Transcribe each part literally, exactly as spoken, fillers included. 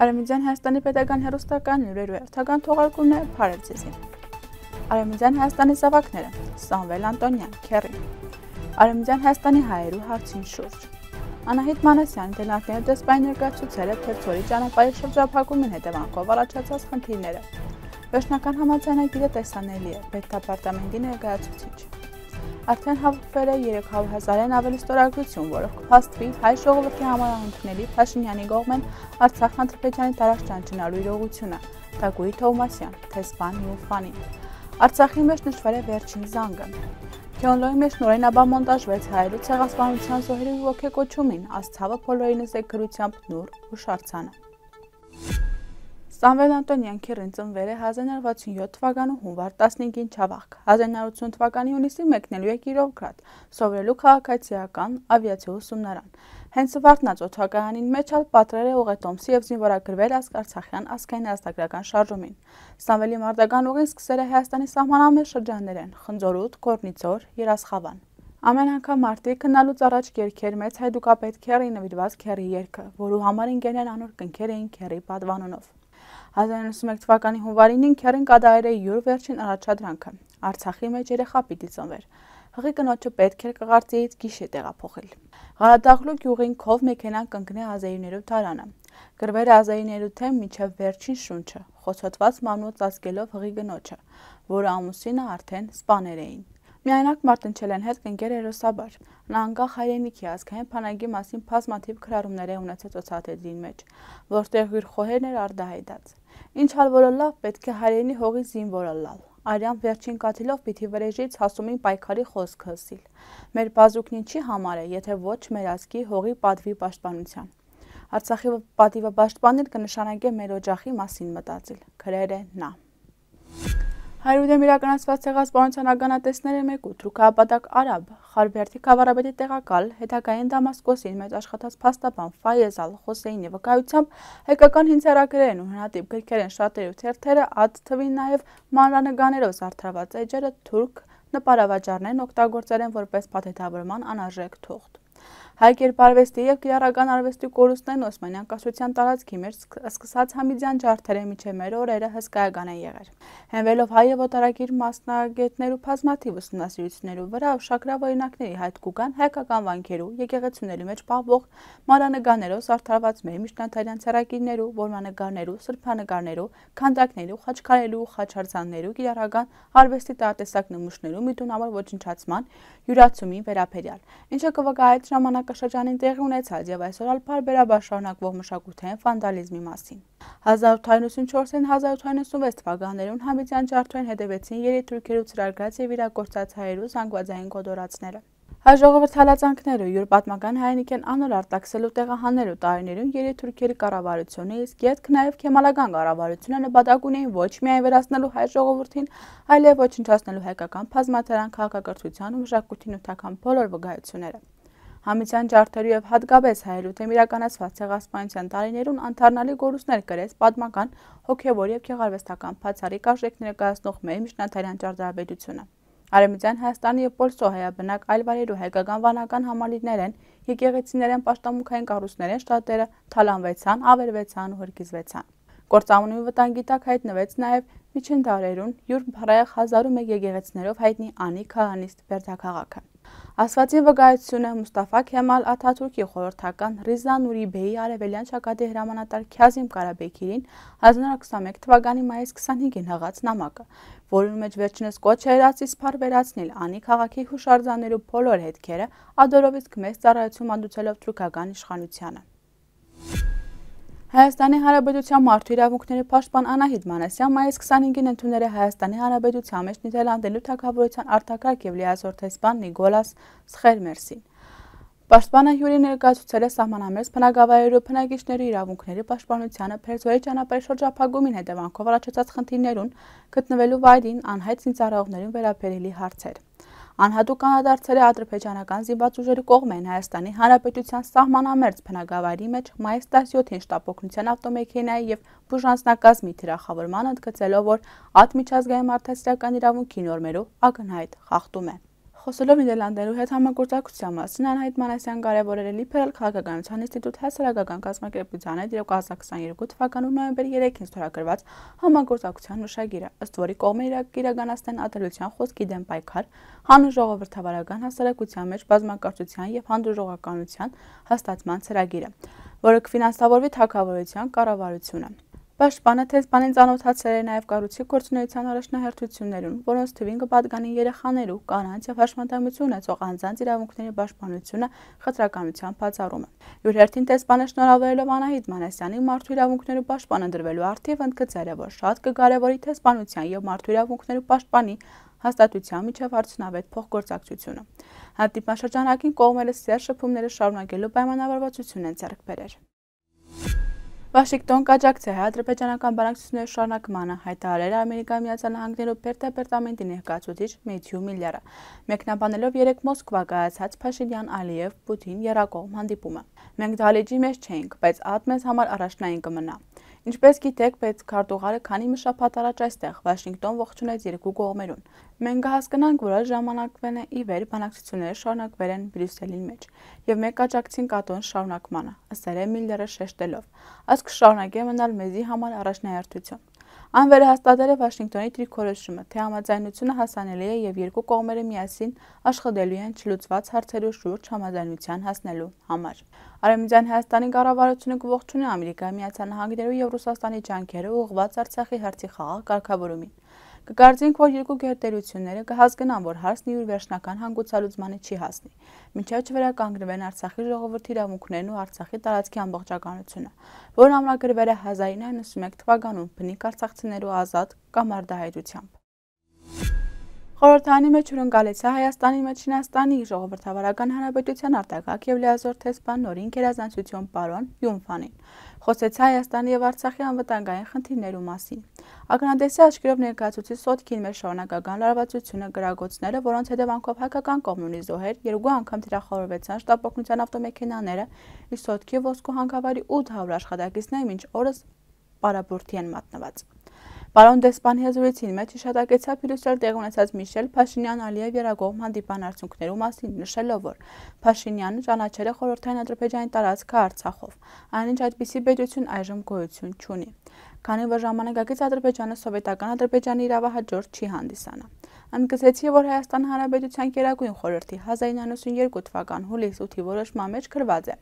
Արևմտյան Հայաստանի պետական հեռուստական լուրերու հերթական թողարկումն է Փարել ձեզին։ Արևմտյան Հայաստանի զավակները Սամվել Անտոնյան, Քերին։ Արևմտյան Հայաստանի հայերու հարցին շուրջ։ Անահիտ Մանասյանի դելանքների դեսպանի ներկայացուցել է Փերձորի ճանապարհի շրջափակումին հետևանքով առաջացած խնդիրները։ Վերջնական համաձայնագիրը տեսանելի է պետդեպարտամենտի ներկայացուցիչ։ Արդեն հավաքվել է երեք հարյուր հազարեն ավելի ստորագրություն, որը կփաստվի հայ ժողովրդի համար անընդունելի Փաշինյանի կողմեն Արցախ Ադրբեջանի տարածքն ճանաչելու իրողությունը, Թագուհի Թովմասյան, Թեսպան Յուլֆանին։ Արցախի մեջ նշվել է վերջին զանգը։ Գյոնլոյի մեջ նորենաբար մոնտաժվեց հայերու ցեղասպանության զոհերի ոգեկոչումին, ասցավը փոլորինս է գրությամբ նուր ու շարցանը։ Սամվել Անտոնյան Քերին ծնվել է հազար նոր վաթսունյոթ թվականում հունվար տասնհինգին Չավախ, հազար նոր ութսուն թվականի հունիսին մեկնելու է Կիրովգրադ, սովորելու քաղաքացիական ավիացիա ուսումնարան։ Հենց Վարդնաց օդակայանին մեջ ալ պատրել է ուղետոմսի եւ զինվորագրվել Արցախյան ազգային ազգագրական շարժումին։ Սամվելի մարտական ուղին սկսել է Հայաստանի սահմանամերձ շրջաններեն՝ Խնձորուտ, Կորնիցոր, Երասխավան։ Ամեն անգամ մարտի քննալուց առաջ կերքեր մեծ հայդուկապետ Քերի նվիրված Քերի երգը, որու համար ինգեներն անոր կնքեր էին Քերի պատվանունով։ հազար իննսուն մեկ թվականի հունվարին Քերին կատարել է յուր վերջին առաջադրանքը։ Արցախի մեջ երեխա պիտի ծնվեր։ Հղի կնոջը պետք էր կղարծիից գիշե տեղափոխել։ Ղարադաղլու գյուղին քով մեքենան կընկնե ազերիներու տարանը։ Գրվել է ազերիներու թեմ միջև վերջին շունչը, խոցոտված մանուց ազգելով հղի գնոջը, որը ամուսինը արդեն սպաներ էին։ Միայնակ մարտնչել են հետ կնկեր հերոսաբար։ Նա անկախ հայրենիքի ազգային փանագի մասին բազմաթիվ քրարումներ է ունեցած օծաթեդրին մեջ, որտեղ իր խոհերն էր արդահայտած։ Ինչ հալ որը լավ պետք է հայրենի հողի զինվորը լալ։ Արյան վերջին կաթիլով պիտի վրեժից հասումին պայքարի խոսք հսիլ։ Մեր բազուկն ինչի համար է, եթե ոչ մեր ազգի հողի պատվի պաշտպանության։ Արցախի պատիվը պաշտպանել կնշանակե մեր օջախի մասին մտածել, գրել է նա։ Հայրուդեմ իրականացված ցեղասպանության ականատեսները մեկու թուրքահապատակ արաբ Խարբերդի քաղաքապետի տեղակալ հետագային Դամասկոսին մեծ աշխատած փաստաբան Ֆայեզ Ալ-Խոսեյնի վկայությամբ հայկական հինցերագրերն ու հնատիպ գրքեր են շատերու թերթերը, ատ թվին նաև մանրանկարներով զարդարված էջերը թուրք նպարավաճառներն օգտագործել են որպես փաթեթավորման անարժեք թուղթ։ Հայ կերպարվեստի եւ կիրառական արվեստի կորուստներն Օսմանյան կայսրության տարածքի մեջ սկսած Համիդյան ջարդերը միջև մեր օրերը հսկայական են եղել։ Հենվելով հայ եւ օտարակիր մասնագետներու բազմաթիվ ուսումնասիրություններու վրա ուշագրավ օրինակների հայտ կուգան հայկական վանքերու եկեղեցիների մեջ պահվող մանրանկարներով զարդարված մեր միջնադարյան ցերակիրներու, որմաննանկարներու, սրբանկարներու, քանդակներու, խաչքարերու, խաչարձաններու, կիրառական արվեստի տարատեսակ նմուշներու միտունավոր ոչնչացման յուրացումի վերաբերյալ, ինչը կվկայեց ժամանակաշրջանին տեղի ունեցած եւ այսօր ալփարբերաբար շարունակվող մշակութային վանդալիզմի մասին։ հազար ութ հարյուր նվսանչորսին հազար ութ հարյուր նվսանվեց թվականներուն Համիդյան ջարդերին հետևեցին երիտուրքերու ծրագրած եւ իրագործած հայերու զանգվածային կոդորացները։ Հայ ժողովրդի հալածանքները յուր պատմական հայրենիքեն անոր արտաքսելու տեղահանելու տարիներուն երիտուրքերի կառավարությունը, իսկ ետք նաև քեմալական կառավարությունը նպատակ ունեին ոչ միայն վերացնելու հայ ժողովրդին, այլև ոչնչացնելու հայկական բազմաթարան քաղաքակրթության ու մշակույթի նյութական բոլոր վկայությունները։ Համիդյան ջարդերու եւ հատկապես հայերու դեմ իրականացված ցեղասպանության տարիներուն անդառնալի գորուստներ կրեց պատմական, հոգեվոր եւ գեղարվեստական բացառիկ արժեք ներկայացնող մեր միջնադարյան ճարտարապետությունը։ Արևմտյան Հայաստանի եւ Պոլսո հայաբնակ այլ վայրերու հայկական վանական համալիրներեն, եկեղեցիներեն, պաշտամունքային կառույցներեն շատերը թալանվեցան, ավերվեցան ու հրկիզվեցան։ Գործամունի վտանգի տակ հայտնվեց նաև միջին դարերուն յուր փառայեղ հազար ու մեկ եկեղեցիներով հայտնի Անի քահանիստ Բերդաքաղաքը։ Ասվածի վկայությունը Մուստաֆա Քեմալ Աթաթուրքի խորհրդական Ռիզա Նուրի Բեյի արևելյան շակատի հրամանատար Քյազիմ Կարաբեքիրին հազար նոր քսանմեկ թվականի մայիս քսանհինգին հղած նամակը, որում մեջ վերջինս կոչ էր ածի սփար վերացնել Անի քաղաքի հուշարձաններու բոլոր հետքերը, ադորովից մեծ ծառայություն մատուցելով թուրքական իշխանությանը։ Հայաստանի Հանրապետության մարդու իրավունքների պաշտպան Անահիտ Մանասյան մայիս քսանհինգին ընդունել է Հայաստանի Հանրապետության մեջ Նիդերլանդելու թագավորության արտակարգ եւ լիազոր տեսփան Նիկոլաս Սխերմերսին։ Պաշտպանը հյուրի ներկայացուցել է սահմանամերձ բնակավայրերու բնակիչների իրավունքների պաշտպանությանը Փերձորի ճանապարհի շրջափակումին հետևանքով առաջացած խնդիրներուն գտնվելու վայրին անհայտ զինծառայողներին վերաբերելի հարցեր։ Անհատուկ անդրադարձել է ադրբեջանական զինված ուժերի կողմեն Հայաստանի Հանրապետության սահմանամերձ բնակավայրի մեջ մայիս տասնյոթին շտապօգնության ավտոմեքենայի եւ բուժանձնակազմի թիրախավորմանը ընդգծելով, որ ատ միջազգային մարդասիրական իրավունքի նորմերով ակնհայտ խախտում է։ Խոսելով Նիդերլանդներու հետ համագործակցության մասին, Անահիտ Մանասյան կարևորել է Լիբերալ քաղաքականության ինստիտուտ հասարակական կազմակերպության հետ երկու հազար քսաներկու թվականի նոյեմբերի երեքին ստորագրված համագործակցության մշակիրը, ըստ որի կողմերը կիրականացնեն ատելության խոսքի դեմ պայքար, հանուն ժողովրդավարական հասարակության մեջ բազմակարծության և հանդուրժողականության հաստատման ծրագիրը, որը կֆինանսավորվի թագավորության կառավարությունը։ Պաշտպանը թեզբանին ծանոթացել է նաև կառույցի գործունեության առաջնահերթություններուն, որոնց թվին կպատկանի երեխաներու, կանանց և հաշմանդամություն ունեցող անձանց իրավունքների պաշտպանությունը խտրականության բացառումը։ Իր հերթին թեզբանը շնորհավորելով Անահիտ Մանասյանին մարդու իրավունքներու պաշտպանը դրվելու առթիվ ընդգծել է, որ շատ կկարևորի թեզբանության և մարդու իրավունքներու պաշտպանի հաստատության միջև արդյունավետ փոխգործակցությունը։ Հանդիպման շրջանակին կողմերը սերտ շփումները շարունակելու պայմանավորվածություն են ձեռք բերել։ Վաշինգտոն կաջակցի հայ-ադրբեջանական բանակցությունների շարունակմանը, հայտարարել է Ամերիկայի Միացյալ Նահանգներու պետդեպարտամենտի ներկայացուցիչ Մեթյու Միլլերը, մեկնաբանելով երեկ Մոսկվա կայացած Փաշինյան-Ալիև-Պուտին եռակողմ հանդիպումը։ Մենք դահլիճի մեջ չէինք, բայց ատ մեզ համար առաջնային կմնա։ Ինչպես գիտեք, պետքարտուղարը քանի մի շաբաթ առաջ այստեղ Վաշինգտոն ողջունեց երկու կողմերուն։ Մենք կհասկանանք, որ այս ժամանակվան ի վեր բանակցությունները շարունակվել են Բրյուսելին մեջ, և մենք կաջակցենք ԱՏՕ-ն շարունակմանը, ասել է Միլլերը շեշտելով։ Այս կշարունակի մնալ մեզի համար առաջնահերթություն։ Այն վերահաստատել է Վաշինգտոնի դիրքորոշումը, թե համաձայնությունը հասանելի է և երկու կողմերը միասին աշխատելու են չլուծված հարցերու շուրջ համաձայնության հասնելու համար։ Արևմտյան Հայաստանի կառավարությունը կողջունի Ամերիկայի Միացյալ Նահանգներու և Ռուսաստանի ջանքերը ուղղված Արցախի հարցի խաղաղ կարգավորումին։ Կկարծենք, որ երկու գերտերությունները կհասկանան, որ հարցն իր վերջնական հանգուցալուծմանը չի հասնի, մինչև չվերականգնվեն Արցախի ժողովրդի իրավունքներն ու Արցախի տարածքի ամբողջականությունը, որն ամրագրվել է հազար ինը հարյուր նվաթ թվականում բնիկ արցախցիներու ազատ կամարտահայտությամբ։ Խորհրդարանի մեջ հյուրընկալեց է Հայաստանի մեջ Չինաստանի ժողովրդավարական հանրապետության արտակարգ և լիազոր տեսփան նորին գերազանցություն պարոն Յունֆանին, խոսեց Հայաստանի և Արցախի անվտանգային խնդիրներու մասին։ Ակնադեսի աչքերով ներկայացուցիչ Սոտքին մեր շարունակական լարվածությունը կրակոցները, որոնց հետևանքով հայկական կողմն ունի զոհեր, երկու անգամ թիրախավորվեցան շտապօգնության ավտոմեքենաները, իսկ Սոտքի ոսկու հանքավայրի ութ հարյուր աշխատակիցներ մինչ օրս պարապուրդի են մատնված։ Պարոն Դեսպանի հզորությունի մեջ հիշատակեցավ Բրյուսել տեղի ունեցած Միշել Փաշինյան-Ալիև եռակողմ հանդիպան արդյունքներու մասին, նշելով, որ Փաշինյանը ճանաչել է խորհրդային Ադրբեջանի տարածքը Արցախով, այնինչ այդպիսի պետություն այժմ գոյություն չունի, քանի որ ժամանակակից Ադրբեջանը սովետական Ադրբեջանի իրավահաջորդ չի հանդիսանա։ Ընդգծեցի, որ Հայաստան Հանրապետության Գերագույն խորհրդի հազար ինը հարյուր նվաթ երկու թվական հուլիս ութի որոշման մեջ գրված է.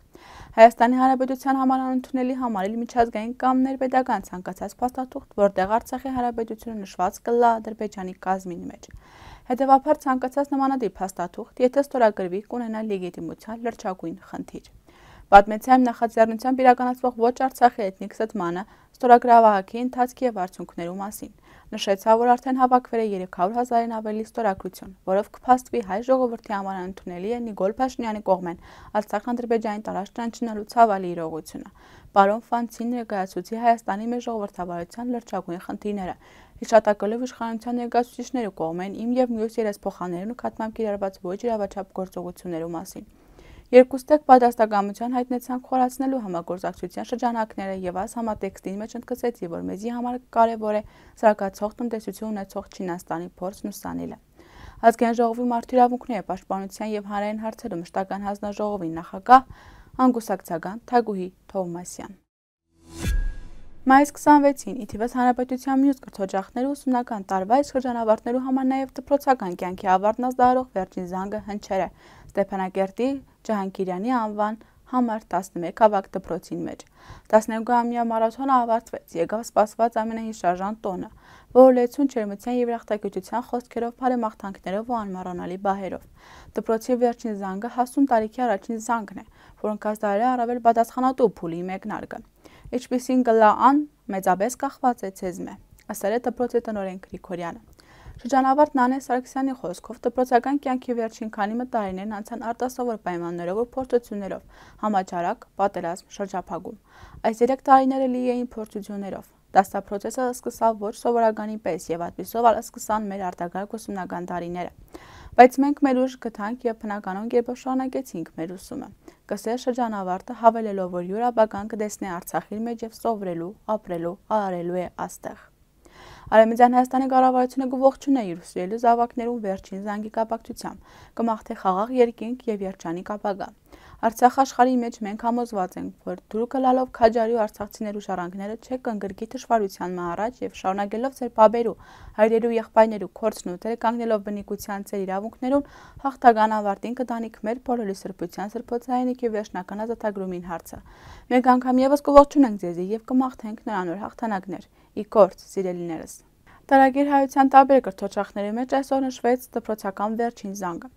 Հայաստանի Հանրապետության համար անընդունելի համարել միջազգային կամ ներպետական ցանկացած փաստաթուղթ, որտեղ Արցախի Հանրապետությունը նշված կլա Ադրբեջանի կազմին մեջ։ Հետևաբար ցանկացած նմանատիպ փաստաթուղթ, եթե ստորագրվի, կունենա լեգիտիմության լրջագույն խնդիր։ Պատմեցի այն նախաձեռնությամբ իրականացվող ոչ Արցախի էթնիկ ստմանը, ստորագրավահակի ընթացքի և արդյունքներու մասին։ Նշեցա, որ արդեն հավաքվել է երեք հարյուր հազարին ավելի ստորագրություն, որով կփաստվի հայ ժողովրդի համար անընդունելի է Նիկոլ Փաշինյանի կողմեն Արցախ-Ադրբեջանի տարածք ճանաչելու ցավալի իրողությունը։ Պարոն Ֆանցին ներկայացուցի Հայաստանի մեր ժողովրդավարության լրջագույն խնդիրները, հիշատակելով իշխանության ներկայացուցիչներու կողմեն իմ և մյուս երեսփոխաններու նկատմամբ կիրառված ոչ իրավաչափ գործողություններու մասին։ Երկուստեք պատրաստակամություն հայտնեցանք խորացնելու համագործակցության շրջանակները և այս համատեքստի մեջ ընդգծեցի, որ մեզի համար կարևոր է զարգացող տնտեսություն ունեցող Չինաստանի փորձն ու սանելը։ Ազգային ժողովի մարդու իրավունքների պաշտպանության և հանրային հարցերու մշտական հանձնաժողովի նախագահ անգուսակցական Թագուհի Թովմասյան։ Մայիս քսանվեցին ի թիվս հանրապետության մյուս կրթօջախներու ուսումնական տարվա իսկ շրջանավարտներու համար նաև դպրոցական կյանքի ավարտն ազդարող վերջին զանգը հնչել է Ստեփանակերտի Ջահանգիրյանի անվան համար տասնմեկ ավագ դպրոցին մեջ։ տասներկուամյա մարաթոնը ավարտվեց, եկավ սպասված ամենահիշարժան տոնը, որ լեցուն ջերմության և երախտագիտության խոսքերով, բարեմաղթանքներով ու անմոռանալի բահերով։ Դպրոցի վերջին զանգը հասուն տարիքի առաջին զանգն է, որոնք ազդարել է առավել պատասխանատու փուլի մեկնարկը։ Ինչպիսին կլա ան, մեծապես կախված է ցեզմե, ասել է դպրոցի տնօրեն Գրիգորյանը։ Շրջանավարտ Նանե Սարգսյանի խոսքով դպրոցական կյանքի վերջին քանի մը տարիներն անցան արտասովոր պայմաններով ու փորձություններով, համաճարակ, պատերազմ, շրջափակում։ Այս երեք տարիները լի էին փորձություններով։ Դասապրոցեսը սկսավ ոչ սովորականի պես և այդպիսով սկսան մեր արտակարգ ուսումնական տարիները։ Բայց մենք մեր ուժ գտանք և բնականon կերպով շարունակեցինք մեր ուսումը, կսեր շրջանավարտը հավելելով, որ յուր ապագան կտեսնի Արցախի մեջ և սովորելու, ապրելու, արարելու է աստեղ։ Արևմտյան Հայաստանի կառավարությունը կողջունի իր ուսուցիչների զավակներուն վերջին զանգի կապակցությամբ, կմաղթի խաղաղ երկինք եւ երջանիկ ապագա։ Արցախ աշխարհի մեջ մենք համոզված ենք, որ դուրքը լալով քաջարի ու արցախցիներու շարանքները չեք կընկրկի դժվարության մը առաջ եւ շարունակելով ձեր բաբերու, հայրերու, եղբայրներու կորցն ու դերը կանգնելով բնիկության ձեր իրավունքներուն հաղթական ավարտին կտանիք մեր բոլորի սրբության սրբոցայինիքի վերջնական ազատագրումին հարցը։ Մենք անգամ եւս կողջունենք ձեզի եւ կմաղթենք նրանոր հաղթանակներ։ Ի կորց, սիրելիներս։ Տարագիր հայության տարբեր կրթօջախների մեջ այսօր նշվեց դպրոցական վերջին զանգը։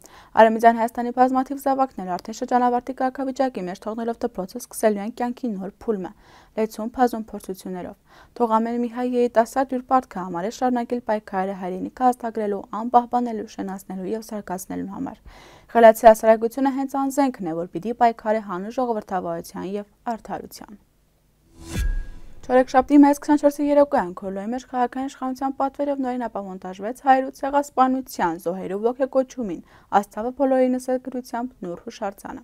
Արևմտյան Հայաստանի բազմաթիվ զավակներ արդեն շրջանավարտի կարգավիճակի մեջ թողնելով դպրոցը սկսելու են կյանքի նոր փուլը, լեցուն փազուն փորձություններով։ Թող ամեն մի հայ երիտասարդ իր պարտքը համարի շարունակել պայքարը հայրենիքը հաստագրելու, անպահպանելու, շենացնելու եւ զարգացնելու համար։ Խելացի հասարակությունը հենց անզենքն է, որ պիտի պայքարի հանուն ժողովրդավարության եւ արդարության։ Չորեքշաբթի մայիս քսանչորսի երեկոյան Քորլոյի մեջ քաղաքային իշխանության պատվերով նորին ապամոնտաժվեց հայրու ցեղասպանության զոհերու ոգեկոչումին, աստղը բոլորինս գրությամբ նոր հուշարձանը։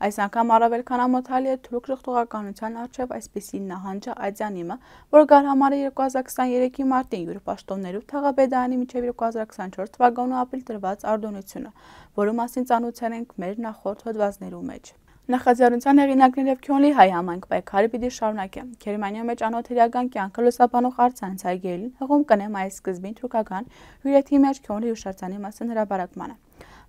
Այս անգամ առավել քան ամոթալի է թուրք ժողովրդականության առջև այսպիսի նահանջը այցանիմը, որ գար համարը երկու հազար քսաներեքի մարտին յուր պաշտոններու թաղաբեդանի միջև երկու հազար քսանչորս թվականու ապրիլ տրված արտոնությունը, որու մասին ծանոթացել ենք մեր նախորդ հոդվածներու մեջ։ Նախաձեռնության հեղինակներ եւ Քյոնլի հայ համայնք պայքարը պիտի շարունակեն։ Գերմանիայի մեջ անօթերական կյանքը լուսաբանող արձանց այգելին հղում կնե մայիս սկզբին թուրքական հյուրեթի մեջ Քյոնլի հուշարձանի մասին հրապարակմանը։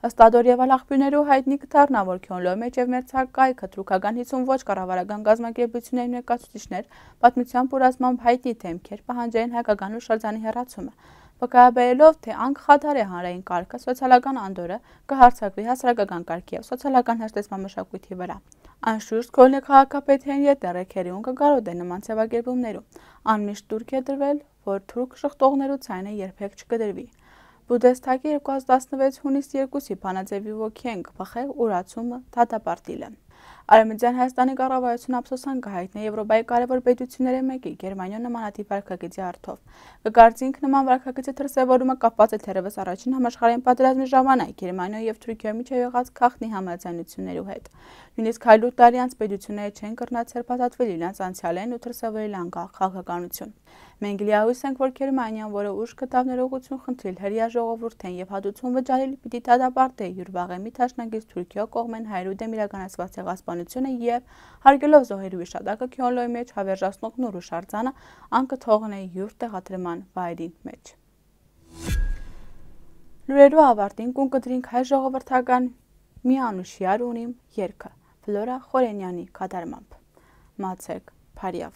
Ըստ ադորիևալ աղբյուրներու հայտնի կդառնա, որ Քյոնլոյի մեջ եւ մերձակայքը թուրքական հիսուն ոչ կառավարական գազམ་ակերպությունների ներկայացուցիչներ պատմությամբ ու ռազմամբ հայտնի թեմքեր պահանջային հայկական հուշարձանի հեռացումը։ Վկայաբերելով, թե անկախադար է հանրային կարգը, սոցիալական անդորը կհարձակվի հասարակական կարգի եւ սոցիալական հաշտեցման մշակույթի վրա։ Անշուշտ Քյոնլի քաղաքապետին ետերեքերիուն կգարոտ է նման ձևակերպումներում։ Անմիշտ դուրք է դրվել, որ թուրք շղթողներու ցայնը երբեք չկդրվի։ Բուդեստագի երկու հազար տասնվեց հունիս երկուսի բանաձևի ոգին կփախե ուրացումը դատապարտիլը։ Արևմտյան Հայաստանի կառավարությունը ափսոսանք կհայտնի Եվրոպայի կարևոր պետությունների մեկի Գերմանիա նմանատիպ վարքագծի առթով։ Կգարձինք նման վարքագծի դրսևորումը կապված է թերևս առաջին համաշխարհային պատերազմի ժամանակ Գերմանիայի եւ Թուրքիայի միջև եղած խախտի համաձայնություններու հետ։ Նույնիսկ հայլու տարի անց պետությունները չեն կրնացել փաթաթվել իրենց անցյալեն ու դրսևորել անկախ քաղաքականություն։ Մենք լիահույս ենք, որ Գերմանիան, որը ուժ կտավ ներողություն խնդրել հրեա ժողովուրդեն եւ հատուցում վճարել, պիտի դատապարտի յուր վաղեմի տաշնակից Թուրքիա կողմեն հայրու դեմ իրականացված ցեղասպանությունը եւ հարգելով զոհերու հիշատակը Քյոնլոյի մեջ հավերժացնող նոր հուշարձանը անկթողն է յուր տեղադրման վայրին մեջ։ Լուրերու ավարտին կուն կդրինք հայ ժողովրդական մի անուշյար ունիմ երգը Ֆլորա Խորենյանի կատարմամբ։ Մացեք Փարիավ։